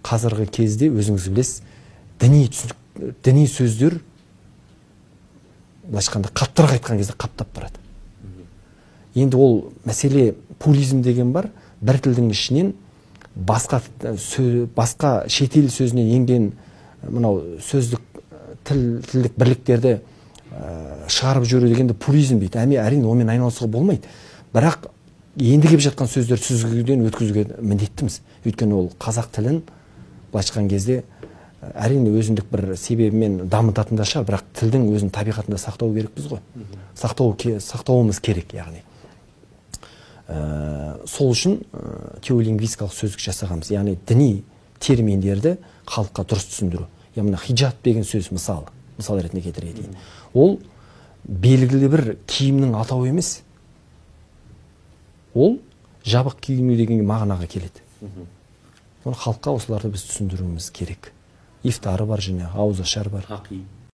қазіргі кезде өзіңіз білесіз, діни сөздер былайша айтқанда қаттырақ айтқан кезде қаптап барады. Енді ол мәселе пулизм деген бар, бір тілдің ішінен басқа шетел сөзінен енген мынау сөздік тілдік бірліктерді шығарып жүру дегенді пулизм дейді. Әрине онымен айналысуға болмайды. Бірақ енді келіп жатқан сөздерді сүзгіден өткізуге міндеттіміз. Өйткені ол қазақ тілін былайша айтқан кезде әрине өзіндік бір себебімен дамытатын да шығар, бірақ тілдің өзінің табиғатында сақтау керекпіз ғой. Сақтауымыз керек, яғни. Сол үшін теолингвистикалық сөздік жасағанбыз, яғни діни терминдерді халыққа дұрыс түсіндіру. Яғни хиджаб деген сөз мысал ретінде келтіре кетейін. Ол белгілі бір киімнің атауы емес. Ол жабық киіну деген мағынаға келеді. Оны халыққа осыларды біз түсіндіруіміз керек. Ифтары бар, және ауызашар бар.